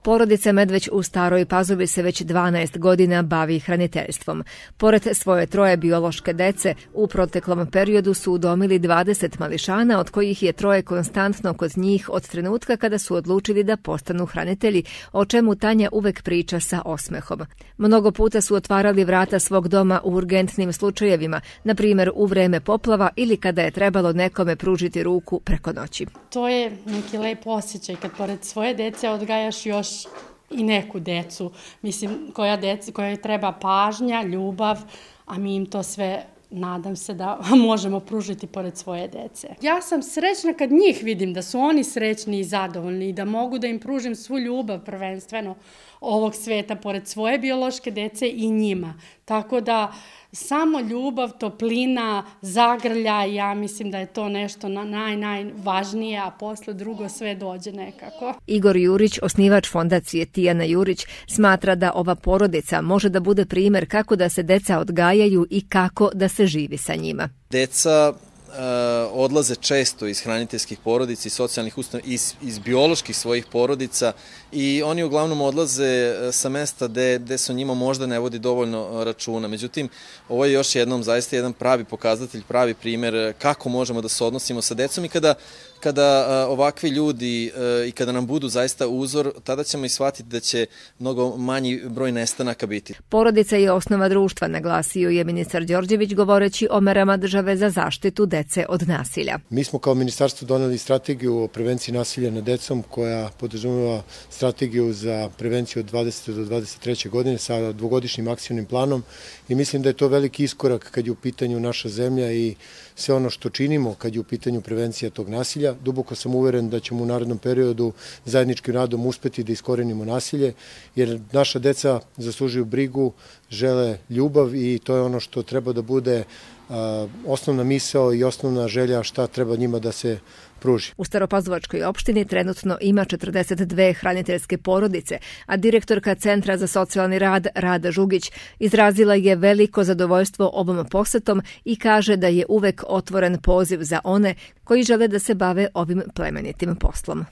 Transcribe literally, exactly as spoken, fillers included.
Porodica Medveć u Staroj Pazovi se već dvanaest godina bavi hraniteljstvom. Pored svoje troje biološke dece, u proteklom periodu su udomili dvadeset mališana, od kojih je troje konstantno kod njih od trenutka kada su odlučili da postanu hranitelji, o čemu Tanja uvek priča sa osmehom. Mnogo puta su otvarali vrata svog doma u urgentnim slučajevima, na primjer u vreme poplava ili kada je trebalo nekome pružiti ruku preko noći. To je neki lep osjećaj kad pored svoje dece odgajaš još i neku decu, mislim, koja deci, koja treba pažnja, ljubav, a mi im to sve, nadam se da možemo pružiti pored svoje dece. Ja sam srećna kad njih vidim, da su oni srećni i zadovoljni i da mogu da im pružim svu ljubav prvenstveno ovog sveta pored svoje biološke dece i njima. Tako da samo ljubav, toplina, zagrljaj, ja mislim da je to nešto naj, najvažnije, a posle drugo sve dođe nekako. Igor Jurić, osnivač fondacije Tijana Jurić, smatra da ova porodica može da bude primjer kako da se deca odgajaju i kako da se živi sa njima. Deca odlaze često iz hraniteljskih porodica i socijalnih ustanova, iz, iz bioloških svojih porodica i oni uglavnom odlaze sa mesta gde, gde se o njima možda ne vodi dovoljno računa. Međutim, ovo je još jednom zaista jedan pravi pokazatelj, pravi primjer kako možemo da se odnosimo sa decom i kada, kada ovakvi ljudi i kada nam budu zaista uzor, tada ćemo i shvatiti da će mnogo manji broj nestanaka biti. Porodica je osnova društva, naglasio je ministar Đorđević govoreći o merama države za zaštitu dece od nasilja. Mi smo kao ministarstvo doneli strategiju o prevenciji nasilja nad decom koja podrazumeva strategiju za prevenciju od dvadesete do dvadeset treće godine sa dvogodišnjim akcijnim planom i mislim da je to veliki iskorak kad je u pitanju naša zemlja i sve ono što činimo kad je u pitanju prevencija tog nasilja. Duboko sam uveren da ćemo u narednom periodu zajedničkim radom uspeti da iskorenimo nasilje, jer naša deca zaslužuju brigu, žele ljubav i to je ono što treba da bude a, osnovna misao i osnovna želja šta treba njima da se pruži. U Staropazovačkoj opštini trenutno ima četrdeset dve hraniteljske porodice, a direktorka Centra za socijalni rad Rada Žugić izrazila je veliko zadovoljstvo ovom posetom i kaže da je uvek otvoren poziv za one koji žele da se bave ovim plemenitim poslom.